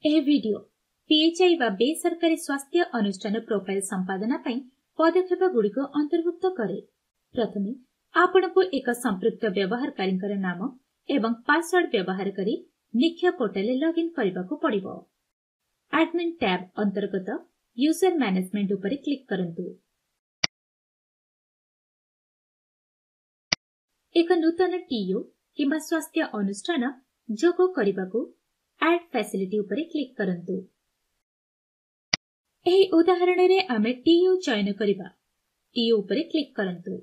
ଏହି ଭିଡିଓ ପିଏଚ୍ଆଇ ବା ବେସରକାରୀ ସ୍ୱାସ୍ଥ୍ୟ ଅନୁଷ୍ଠାନ ପ୍ରୋଫାଇଲ ସମ୍ପାଦନା ପାଇଁ ପଦକ୍ଷେପଗୁଡ଼ିକୁ ଅନ୍ତର୍ଭୁକ୍ତ କରେ। ପ୍ରଥମେ ଆପଣଙ୍କୁ ଏକ ସମ୍ପୃକ୍ତ ବ୍ୟବହାରକାରୀଙ୍କର ନାମ ଏବଂ ପାସୱାର୍ଡ ବ୍ୟବହାର କରି ନିକ୍ଷୟ ପୋର୍ଟାଲରେ ଲଗ୍ଇନ୍ କରିବାକୁ ପଡ଼ିବ। ଆଡମିନ୍ ଟ୍ୟାବ୍ ଅନ୍ତର୍ଗତ ୟୁଜର ମ୍ୟାନେଜମେଣ୍ଟ ଉପରେ କ୍ଲିକ୍ କରନ୍ତୁ। ଏକ ନୂତନ ଟିୟୁ କିମ୍ବା ସ୍ୱାସ୍ଥ୍ୟ ଅନୁଷ୍ଠାନ ଯୋଗ କରିବାକୁ ଆଡ୍ ଫ୍ୟାସିଲିଟି ଉପରେ କ୍ଲିକ୍ କରନ୍ତୁ। ଏହି ଉଦାହରଣରେ ଆମେ ଟିୟୁ ଚୟନ କରିବା। ଟିୟୁ ଉପରେ କ୍ଲିକ୍ କରନ୍ତୁ।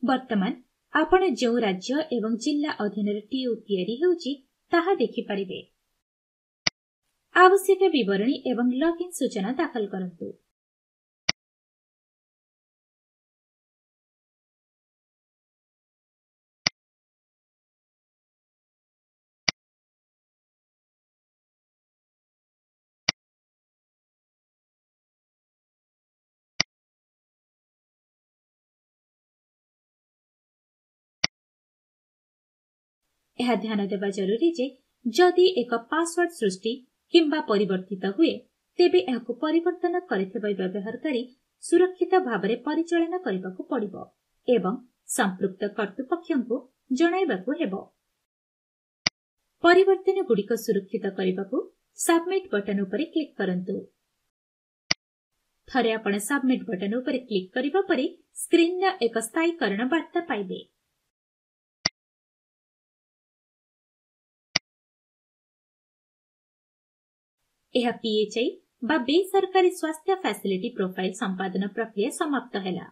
ବର୍ତ୍ତମାନ ଆପଣ ଯେଉଁ ରାଜ୍ୟ ଏବଂ ଜିଲ୍ଲା ଅଧୀନରେ ଟିୟୁ ତିଆରି ହେଉଛି, ତାହା ଦେଖିପାରିବେ। ଆବଶ୍ୟକ ବିବରଣୀ ଏବଂ ଲଗ୍ଇନ୍ ସୂଚନା ଦାଖଲ କରନ୍ତୁ। ଏହା ଧ୍ୟାନ ଦେବା ଜରୁରୀ ଯେ ଯଦି ଏକ ପାସୱାର୍ଡ ସୃଷ୍ଟି କିମ୍ବା ପରିବର୍ତ୍ତିତ ହୁଏ, ତେବେ ଏହାକୁ ପରିବର୍ତ୍ତନ କରିଥିବା ବ୍ୟବହାରକାରୀ ସୁରକ୍ଷିତ ଭାବରେ ପରିଚାଳନା କରିବାକୁ ପଡ଼ିବ ଏବଂ ସମ୍ପୃକ୍ତ କର୍ତ୍ତୃପକ୍ଷଙ୍କୁ ଜଣାଇବାକୁ ହେବ। ପରିବର୍ତ୍ତନଗୁଡ଼ିକ ସୁରକ୍ଷିତ କରିବାକୁ ସବମିଟ୍ ବଟନ୍ ଉପରେ କ୍ଲିକ୍ କରନ୍ତୁ। ଥରେ ଆପଣ ସବମିଟ୍ ବଟନ୍ ଉପରେ କ୍ଲିକ୍ କରିବା ପରେ ସ୍କ୍ରିନରେ ଏକ ସ୍ଥାୟୀକରଣ ବାର୍ତ୍ତା ପାଇବେ। ଏହା ପିଏଚ୍ଆଇ ବା ବେସରକାରୀ ସ୍ୱାସ୍ଥ୍ୟ ଫ୍ୟାସିଲିଟି ପ୍ରୋଫାଇଲ ସମ୍ପାଦନ ପ୍ରକ୍ରିୟା ସମାପ୍ତ ହେଲା।